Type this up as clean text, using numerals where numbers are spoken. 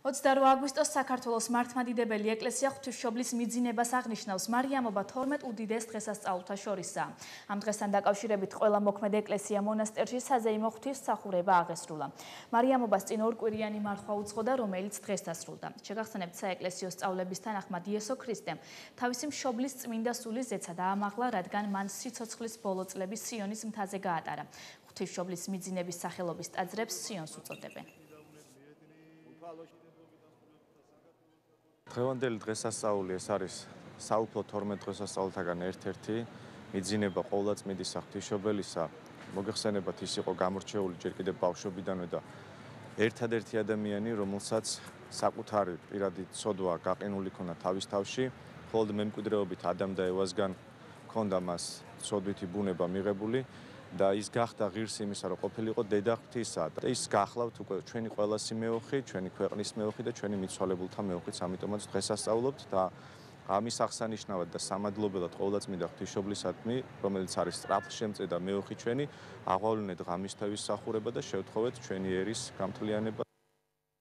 28 აგვისტოს საქართველოს მართლმადიდებელი ეკლესია ღვთისმშობლის მიძინებას აღნიშნავს მარიამობა 12 უდიდეს დღესასწაულთა შორისაა. Ამ დღესთან დაკავშირებით ყველა მოქმედ ეკლესია მონასტერში საზეიმო ღვთისმსახურება აღესრულა. მარიამობას წინ ორკვირიანი მარხვა უძღოდა, რომელიც დღეს დასრულდა. შეგახსენებთ, საეკლესიო სწავლების თანახმად იესო ქრისტემ თავისი მშობლის წმინდა სულის ზეცა დაამაღლა, რადგან მან სიცოცხლის ბოლო წლები სიონის მთაზე გაატარა. ღვთისმშობლის მიძინების სახელობის ტაძრებს სიონს უწოდებენ. დღევანდელი დღესასწაული ეს არის საუფლო 12 დღესასწაულთაგან ერთ-ერთი მიძინება ყოვლადწმიდისა ღვთისმშობელისა. მოგეხსენებათ, ის იყო გამორჩეული ჯერ კიდევ ბავშვობიდანვე და ერთადერთი ადამიანი, რომელსაც საკუთარი პირადი ცოდვა გაყინული ქონდა თავის თავში, მხოლოდ მემკვიდრეობით ადამ და ევასგან ჰქონდა მას ცოდვითი ბუნება მიღებული. და ის გახდა ღირსი იმისა, რომ ყოფილიყო დედა ღვთისა და ის გახლავთ უკვე ჩვენი ყველასი მეოხი, ჩვენი ქვეყნის მეოხი და ჩვენი მიცვალებულთა მეოხიც, ამიტომაც დღესასწაულობთ და ამის აღსანიშნავად და სამადლობელად ყოვლადწმიდა ღვთისმშობლისადმი, რომელიც არის სწრაფშემწე და მეოხი ჩვენი, აღვავლინეთ ღამისთევის მსახურება და შევთხოვეთ ჩვენი ერის გამთლიანება.